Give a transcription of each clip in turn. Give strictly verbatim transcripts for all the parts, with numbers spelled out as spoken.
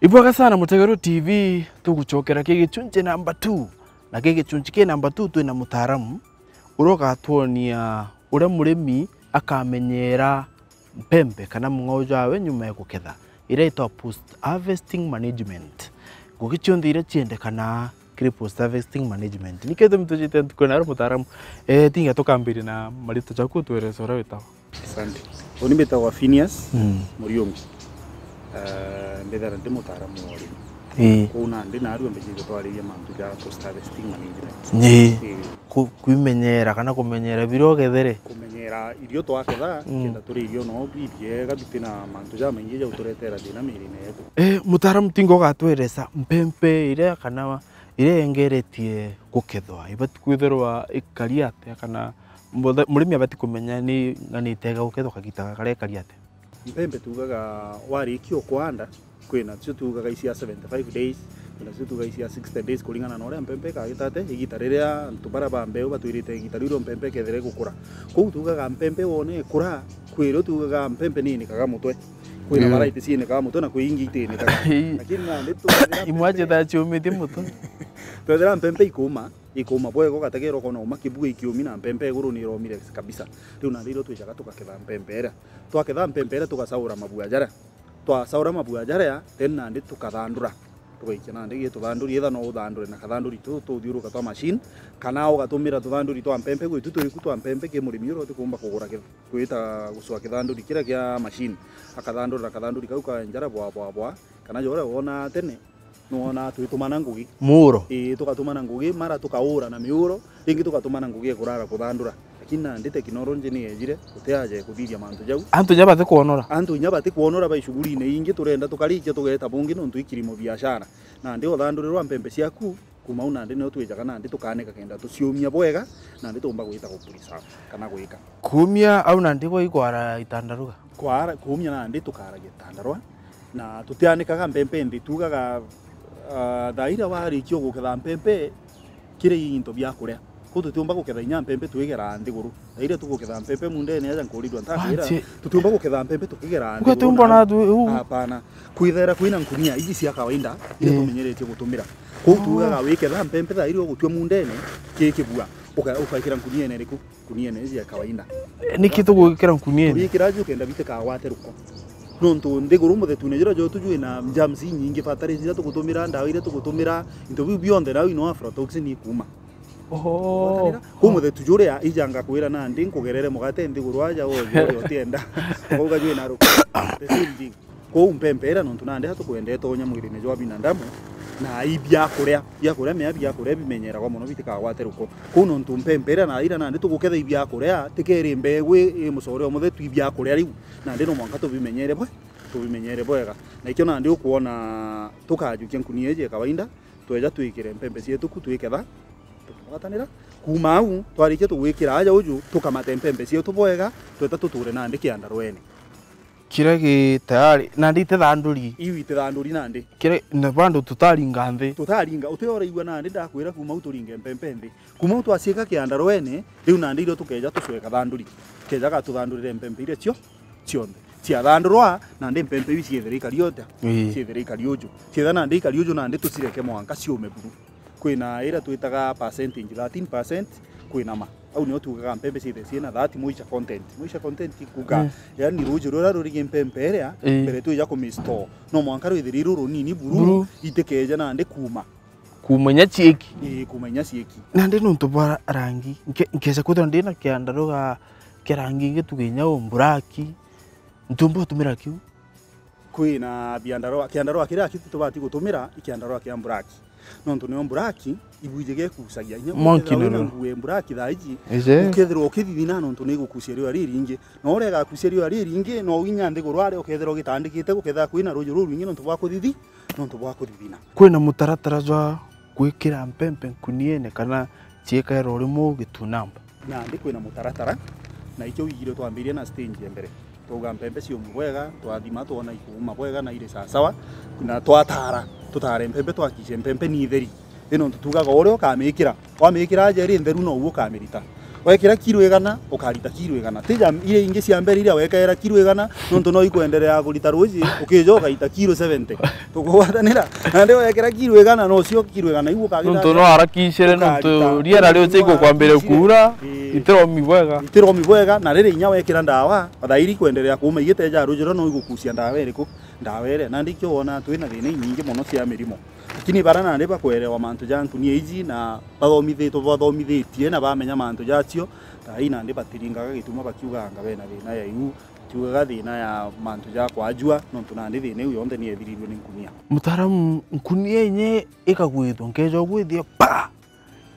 Ibwega sana Mutegeru T V, tugucokera ki gichunchi namba two. Na ki gichunchi ki namba two twina mutaaramu uria ugatwonia uria murimi akamenyera mpempe kana mung'ao jwawe nyuma ya guketha, iria itwa post harvesting management. Ngugi cionthe iria ciendekanaa kiri post harvesting management. Niki gitumi twijite ntuku na ari mutaaramu? Eh, tinga tukambiria na marito jaku, utwerese uria witagwa. Asante. Uni mbitagwa Phineas Mm. Muriungi. Eh, mbithagirwa ndi mutaaramu wa urimi. Ii. Kuu nandi narua mbijite twariria mantu ja post harvesting management. Ii. Ii. Ku-, kwimenyera kana kumenyera biria ugethere? Kumenyera irio twaketha, Mm. kenda turie irio no bibiega bitina mantu jamaingi ja uturetera thina mirine yetu. Eh, mutaaramu tinga ugatweresa mpempe iria kana iria yengeretie gukethwa, ibati kwithirwa ikari atia, kana muthe-, murimi abati kumenya ni ng'ani itega gukethwa kagita gakaria ikari atia? Mpempe tugaga warikia o kwanda, kwina cio tugaga icia seventy five days, kwina cio tugaga icia sixty days, kuringana na uria mpempe ikagita atia, igita riria antu baria ba mbeu batwirite igita riu mpempe ikethira igukura. Kou tugaga mpempe wone ikura, kwi rio tugaga mpempe ni inikaga mutwe. Kwina Mm. variety ciinikaga mutwe na kwi ingi itinikaga. Lakini nandi twethira Imwe mpempe ciethaa ciumitie mutwe. Twethira mpempe ikuma, ikuma bwega, ugategera ukona uma kibua ikiumi na mpempe iguru ni iromire kabisa. Riu nandi irio twijaga tugaketha mpempe iria. Twaketha mpempe iria tugasaura mabua jaria. Twasaura mabua jaria, then nandi tukathandura. Tugaikia nandi gi tuthanduri, either no uthandure na kathanduri tu tuthiuruka twa machine, kana ugatumira tuthanduri twa mpempe gwitu turiku twa mpempe ki murimi uria utikumba kugura ki-, gwita gucwa kithanduri kiria kia machine. Akathandura na kathanduri kau ka njara bwa, bwa, bwa, kana ja uria wonaa tene, nwonaa twitumana ngugi. Muuro? Ii, tugatumana ngugi, mara tukaura na miuro, ringi tugatumana ngugi ya kurara kuthandura. Lakini nandi teknoloji ni yejire, guti aja ya kuthithia mantu jau. Antu inya batikwonora? Antu inya batikwonora bai shughuli-ini ingi, turenda tukarikia tugeta bungi nontu i kilimo biashara. Nandi uthandurirwa mpempe ciaku, kuma au nandi nio twijaga nandi tukanika kenda tuciumia bwega, nandi tuumba gwita ku preserve kana gwika. Kuumia au nandi gwa ikwara itandaruga? Kwara, kuumia nandi tukaragia itandarwa, na tutianikaga mpempe nthi, tugaga, ah, thaa iria warikia guketha mpempe, kiri into bia kuria. Kou tutiumba guketha inya mpempe twigera nthiguru. Thaa iria tuguketha mpempe mundene aja nkurirwa ntakwira, Wanjie. Tutiumba guketha mpempe tukigera nthiguru. Ugathiumba na- na tu-, uu. Hapana. Kwithera kwina nkunia iji cia kawaida, iria Ii. tumenyeretie gutumira. Kou tugaga wiketha mpempe thaa iria ugutua mundene, ki kibua, uka-, ukekira nkuniene iriku? Nkuniene iji ya kawaida. Niki tugwikira nkuniene? Tugikira ju kenda bitikagwate ruko. Nontu nthiguru muthetune juria jwetu jwina germs inyingi, fertilizer iria tugutumira, ndawa iria tugutumira, into biu bionthe nau ino aflatoxin ikuma. Oho. Kou muthetu juria ija ngakwira nandi nkugerere mugate nthiguru aja woje uria utienda. Ukauga jwina ruko. The same thing. Kou mpempe iria nontu nandi atukwendete unya mwirine jwa binadamu, na i biakuria, biakuria mea biakuria bimenyeragwa mono bitikagwate ruko. Kou nontu mpempe iria na iria nandi tuguketha i biakuria, tikeri mbegu i, i mucore o muthetu i biakuria riu, nandi no mwanka tubimenyere bwe-, tubimenyere bwega. Na ikio nandi ukwona tukajukia nkunia iji ya kawaida, tweja twikire mpempe cietu ku twiketha, tukagwatanira. Kuma au, twarikia tugwikira aja uju, tukamate mpempe cietu bwega, tweta tuture nandi kiandarwene. Kiria gi tayari, nandi itithanduri. Iu itithanduri nandi. Kiria, na bado tutaringa nthi. Tutaringa, uti uraigua nandi ndakwira kuma au turinge mpempe nthi. Kuma au twaciika kiandarwene, riu nandi irio tukeja tucweka thanduri. Kejaga tuthandurire mpempe iria cio, cionthe. Ciathandurwa, nandi mpempe iu ciethire ikari utia? Ii. Ciethire ikari uju. Cietha nandi ikari uju nandi tucireke mwanka ciume buru. Kwina iria twitaga percentage, thirteen percent, kwina ma. Au nio tugaga mpempe ciithire ciina that moisture content. Moisture content i kuga, Mm. yani ruuji ruria rurigi mpempe iria, Ii. mbere twija kumistore, no mwanka rwithire ruru runini buru, Buru. itikeja nandi kuuma. Kuuma inya ciiki. Ii, kuuma inya ciiki. Nandi nontu bwa rangi, nke-, nkeja kwithirwa ndina kiandarwa kia rangi ingi tuge inya u black, ntiumba utumira kiu? Kwina biandarwa, kiandarwa kiria aki tubati gutumira i kiandarwa kia black. Nontu nio black, ibuiji gekucagia. Inya Monkey ukethirwa wina nuru. Nguo ya black thaa iji, Ije. ukethirwa ukithithina nontu ni igukucia riua riringi. Na uria igakucia riua riringi, no inya nthiguru aria ukethirwa ugitandikite, gukethirwa kwina ruuji rurwingi nontu bwa kuthithi-, nontu bwa kuthithina. Kwina mutaratara jwa gwikira mpempe nkuniene kana ciikaira urimwe ugitunamba? Nandi kwina mutaratara, na ikio wigire twambirie na stage ya mbere. Twauga mpempe ciume bwega, twathima twona ikuuma bwega na iri sawasawa, na twatara, tutare mpempe twakice mpempe ni theri. Ino ntu tugaga uria ukamikira, wamikira aja iri ntheru nouo ukamirita. Wekira kiro igana, ukarita kiro igana. Ti ja iria ingi cia mbere iria wekaira kiro igana, nontu no ikwenderea kurita ruji, ukija ugaita kiro seventy. Tukugwatanira? Nandi wekira kiro igana, nocio kiro igana iu ukagita nontu no arakicire, nontu ukarita riera riu cigukwambire kuura, ii, itiromi bwega. Itiromi bwega, na riria inya wekira ndawa, thairi kwenderea kuuma igiteja ruji ruria no igukucia ndawa iriku? Ndawa iria. Nandi ikio wona twina thina inyingi mono cia mirimo. Lakini bara nandi bakwerewa mantu ja nkunia iji na bathomithitwe, bathomithitie na bamenya mantu jacio, thaai nandi batiringaga gituma bakiugaga anga bena thina ya iu, bakiugaga thina ya mantu ja kwajua, nontu nandi thina iu yonthe ni ethirirue ni nkunia. Mutaaramu, nkunia inye ikagwithua, nkeja ugwithia, pa!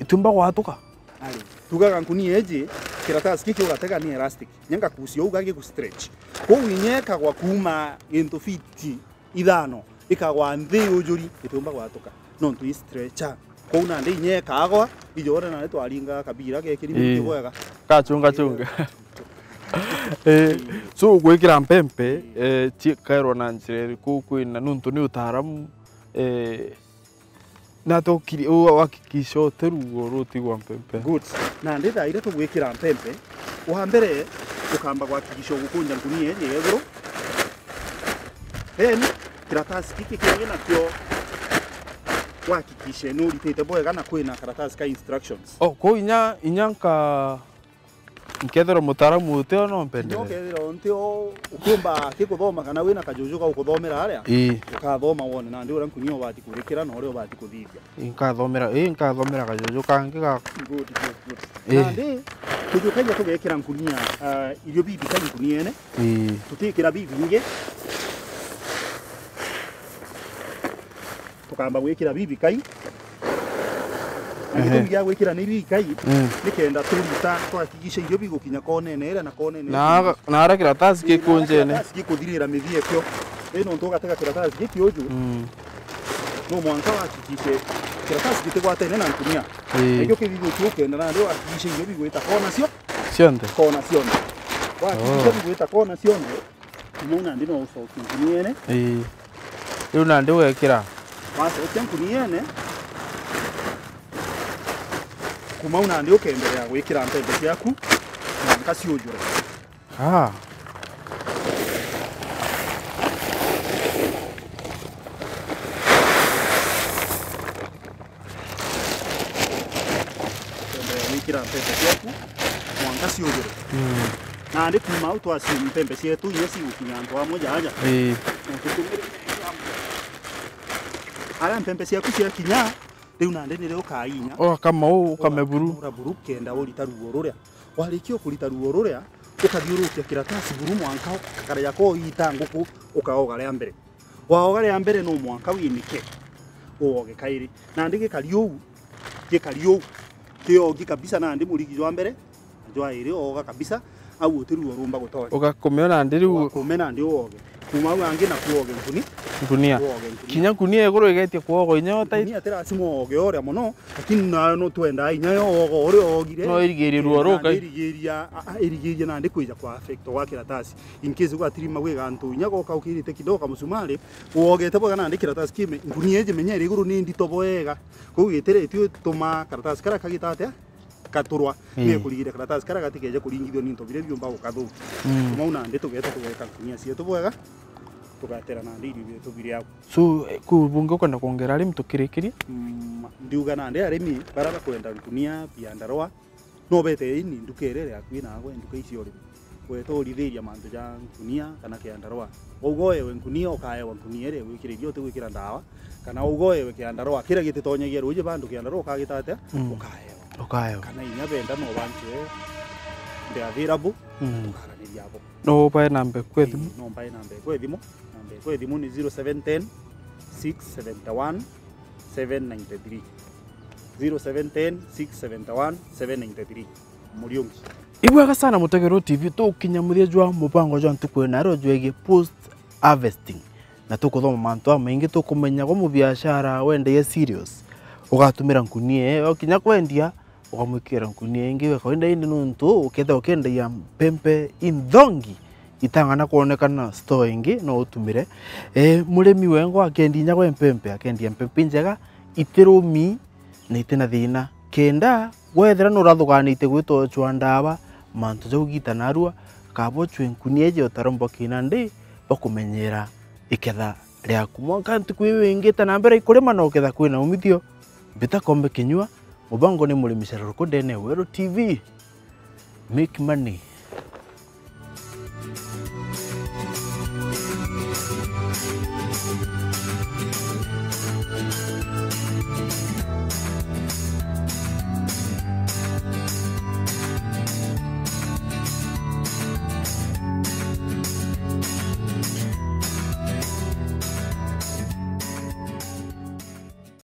Itiumba gwatuka? Ari, tugaga nkunia iji, kiratasi giki ugatega ni elastic. Nyenga kucia uga gigu stretch. Kwou inye ikagwa kuuma gintu fiti ithano, ikagwa nthi ujuri, itiumba gwatuka. Nontu i stretcher. Kwou nandi inya ikagwa, ijoore nandi twaringa kabira gekiri muti bwega. Kachunga chunga. Eh, so gwikira mpempe, eh, ciikairwa na njira iriku kwina, nontu ni utaaramu, eh, na tukiri-, u-, uhakikisha uti ruo rutigwa mpempe. Good. Nandi thaa iria tugwikira mpempe, wa mbere ukamba kuhakikisha ugukunja nkunia iji ya iguru. Then, kiratasi giki kingi nakio uhakikishe ni uritite bwega na kwina karatasi ka instructions. Oh, kwou inya, inya nka-, nkethirwa mutaaramu uti o no mpendere? Kinya ukethirwa unti o, ukiumba kikuthoma kana wina kajuju ga ukuthomera aria, ii, ukathoma wone nandi uria nkunia ubati kurikira na uria ubati kuthithia. Ii, nkathomera, ii, nkathomera kajuju kangi ga. Good, good, good. Ii. Nandi, tujukagia tugekira nkunia, ah, irio bibikai nkuniene. Ii. Tutikira bibingi. Tukamba gwikira bibikai. Na ehe, gitumi gia gwikira ni bibikai, mm, ni kenda turita, twahakikisha irio bigukinya konene iria na konene iria. Na ara kiratasi, ii, na ara kikunjene, kiratasi gikuthirira mithia kio. Ii, nontu ugatega kiratasi giki uju, mm, no mwanka wahakikishe kiratasi gitigwatene na nkunia. Ii. Nakio kithithio kiu ukenda nandi wahakikishe irio bigwita kona cio-, cionthe, kona cionthe. Wahakikisha, oh, bigwita kona cionthe, kuma u nandi no ucokie nkuniene. Ii. Riu nandi ugekira. Wacokia nkuniene, kuma u nandi ukeenderea gwikira mpembe ciaku mwanka ciujure. Ah. Ukeenderea gwikira mpembe ciaku mwanka ciujure. Mm. Nandi kuma au twacio mpembe cietu inya cigukinya antu amwe jaaja. Ii. Na tutumire aria mpembe ciaku ciakinya, riu nandi nirio ukainya. Ugakama uu, ukame buru. Ugakamura buru kenda urita ruo ruria. Warikia kurita ruo ruria, ukathiurukia kiratasi buru mwanka ukakaria koita nguku, ukaoga ria mbere. Waoga ria mbere no mwanka winike, uoge kairi. Nandi gikari uu, gikari uu, kiogi kabisa nandi murigi jwa mbere, na jwa iri ooga kabisa, au uti ruo rumba gutonya. Ugakumio nandi riu. Ugakume nandi uoge. Kuma au angi naku uoge nkuni. Nkunia. Uoge nkunia. Kinya nkunia iguru igetie kuogwa inya yo tight. Nkunia ti lazima uoge uria mono, lakini nayo no twendaa inya yo uoga uria uogire. No irigirie ruo rukai. Nandi irigiria, a, a, irigiria nandi kwija kwa affect gwa kiratasi. In case gwatirima gwi gantu inya goka ukirite kidogo kamusumari, uogete bwega nandi kiratasi kime, nkunia iji menya iri iguru ni ndito bwega. Kwou gitire itio ituma karatasi karia kagita atia? Katurwa. Ii. Ni kurigiria karatasi karia gatikeje kuringithua ni into biria biumba gukathukia. Mm. Kuma u nandi tugeta tugeka nkunia cietu bwega, tugatera nandi irio bietu biri au. So, eh, kuu bungi ukwenda kwongera arimi tukirikirie? Mm, ndiuga nandi arimi baria bakwenda nkunia, biandarua, no bete ini nduka iria iri akui naagwe, nduka ici cia urimi. Weta urithiria mantu ja nkunia kana kiandarua. Wauga uewe nkunia, ukaewa nkunia iria igwikira irio, utigwikira ndawa. Kana wauga uewe kiandarua, kiria gititonyagia ruuji bandu kiandarua ukagita atia? Mm. Ukaewa. Ukaewa. Kana inya benda no banchwe, they are available, mm, tukaraniria abo. No ubae namba eku ya thimu? Ii, no mbae namba eku ya thimu. Namba eku ya thimu ni zero seven ten, six seven one, seven nine three. Zero seven ten, six seven one, seven nine three. Muriungi. Ibwega sana Mutegero T V, tukinya muthia jwa mubango jwa ntuku ino ya reo jwegie post harvesting. Na tukuthoma mantu jamaingi, tukumenya gwa mubiashara wendagia cereals, ugatumira nkunia iyo kinya kwendia, ukamwikira nkunia ingi ya kawaida, indi nuntu ukethira ukiendagia mpempe inthongi, itang'ana kwonekana store ingi, no utumire. Eh, murimi wengwa akendia inya gwe mpempe, akendia mpempe injega, itirumi na itina thina, kenda Wethira nurathuganite gwita uchwa ndawa, mantu jau giita narua, kaba uchwe nkunia iji utaromba kina ndi bakumenyera iketha riaku. Mwanka ntuku iu ingite na mbere ikurima na uketha kwina umithio, mbita kombe kinyua, mubango ni murimi Cerro Ruku ndene ya Weru T V. Make money.